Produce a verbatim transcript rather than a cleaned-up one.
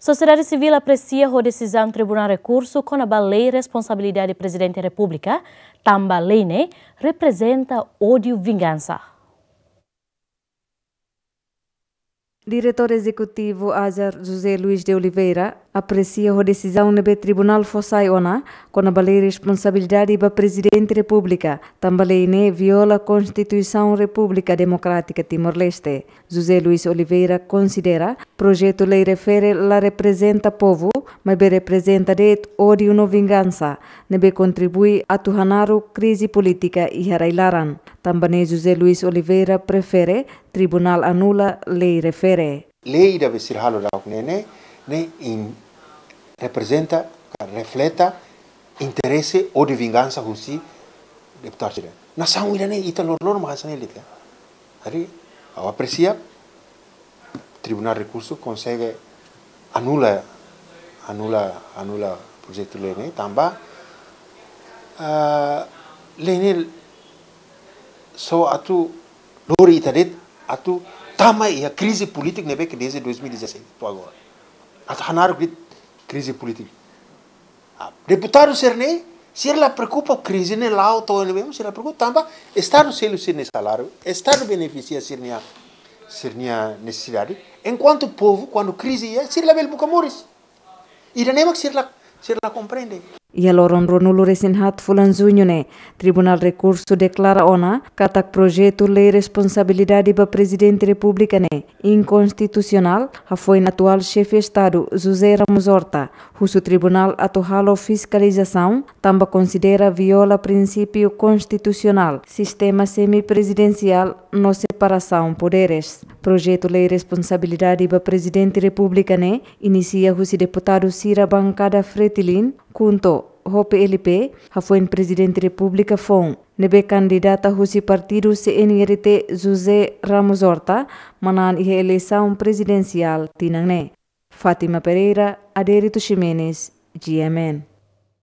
Sosiedade sivíl apresia ho desizaun Tribunál Rekursu kona-ba lei responsabilidade Prezidente Repúblika, tanba lei ne'e reprezenta ódiu vingansa. Diretór Ezekutivu AJAR, José Luís de Oliveira, apresia ho desizaun ne'ebé tribunál fó sai ona kona-ba lei responsabilidade ba Prezidente Repúblika, tanba lei ne'e viola Konstituisaun Repúblika Demokrátika Timor-Leste. José Luís Oliveira konsidera projetu lei refere la reprezenta povu, maibé reprezenta de'it ódiu no vingansa, ne'ebé kontribui atu hanaruk krize polítika iha rai-laran. Tanba ne'e José Luís Oliveira prefere tribunál anula lei refere. Lei ida be sira halo daudaun ne'e, ne'e, ne'e in-, reprezenta, ka refleta interese ódiu vingansa husi deputadu sira. Nasaun ida-ne'e ita loroloron mak hanesan ne'e de'it. Jadi, ha'u apresia Tribunál Rekursu konsege anula, anula, anula projetu lei ne'e, tanba, ah, lei ne'e só atu lori ita de'it atu tama iha krize polítika ne'ebé ke desde dois mil e dezasseis to'o agora. Atu hanaruk krize polítika. Ah, deputadu sira-ne'e, sira la preokupa krize ne'e la'o to'o ne'ebé, sira la preokupa tanba Estadu selu sira-nia saláriu, Estadu benefisia sira-nia, sira-nia nesesidade. Enkuantu povu, kuandu krize iha, sira labele buka moris. Ida-ne'e mak sira la, sira la komprende. Iha loron ruanulu-resin-haat fulan Juñu ne'e, Tribunál Rekursu deklara ona katak projetu lei responsabilidade ba Prezidente Repúblika ne'e inkonstitusionál, hafoin atuál Xefe Estadu José Ramos Horta husu tribunál atu halo fiskalizasaun, tanba konsidera viola prinsípiu konstitusionál, sistema semiprezidensiál no separasaun poderes. Projetu lei responsabilidade ba Prezidente Repúblika ne'e inisia husi deputadu sira bankada Fretilin, KHUNTO ho PLP, hafoin Prezidente Repúblika foun, ne'ebé kandidata husi partidu CNRT José Ramos Horta, manán iha eleisaun prezidensiál tinan ne'e. Fátima Pereira, Adérito Ximenes, G M N.